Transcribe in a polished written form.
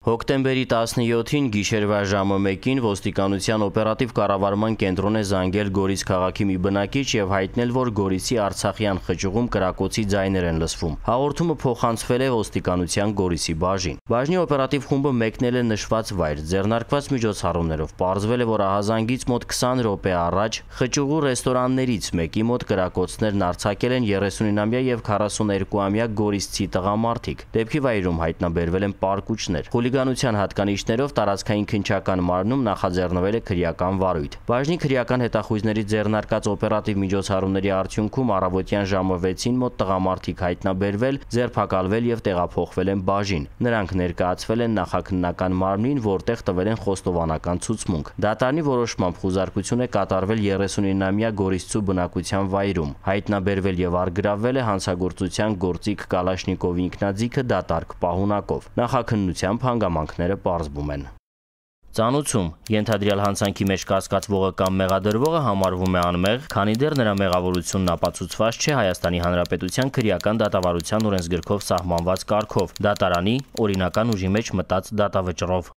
Հոկտեմբերի 17-ին գիշերվա ժամը 1-ին ոստիկանության օպերատիվ կառավարման կենտրոն է զանգել Գորիս քաղաքի մի բնակիչ եւ հայտնել, որ Գորիսի Արցախյան խճուղում կրակոցի ձայներ են լսվում։ Հաղորդումը փոխանցվել է ոստիկանության Գորիսի բաժին։ Բաժնի օպերատիվ խումբը մեկնել է նշված վայր։ Ձեռնարկված միջոցառումներով պարզվել է, որ ահազանգից մոտ 20 րոպե առաջ խճուղու ռեստորաններից մեկի մոտ կրակոցներն արձակել են 39-ամյա եւ 42-ամյա գորիսցի տղամարդիկ։ Դեպքի վայրում հայտնաբերվել են պարկուճներ։ Հուլիգանության հատկանիշներով տարածքային քննչական մարմնում նախաձեռնվել է քրեական վարույթ։ Բաժնի քրեական հետախույզների ձեռնարկած օպերատիվ միջոցառումների արդյունքում առավոտյան ժամը 6-ին մոտ տղամարդիկ հայտնաբերվել, ձերբակալվել եւ տեղափոխվել են բաժին։ Նրանք ներկայացվել են նախաքննական մարմնին, որտեղ տվել են խոստովանական ցուցմունք։ Դատարանի որոշմամբ խուզարկություն է կատարվել 39-ամյա գորիսցու բնակության վայրում։ Հայտնաբերվել եւ առգրավվել է հանցագործության գործիք Կալաշնիկովի ինքնաձիգը դատարկ պահունակով։ Նախաքննությամբ հանգամանքները պարզվում են։ Ծանուցում ենթադրյալ հանցանքի մեջ կասկածվողը կամ մեղադրվողը համարվում է անմեղ, քանի դեռ նրա մեղավորությունն ապացուցված չէ Հայաստանի Հանրապետության քրեական դատավարության օրենսգրքով սահմանված կարգով՝ դատարանի օրինական ուժի մեջ մտած դատավճռով։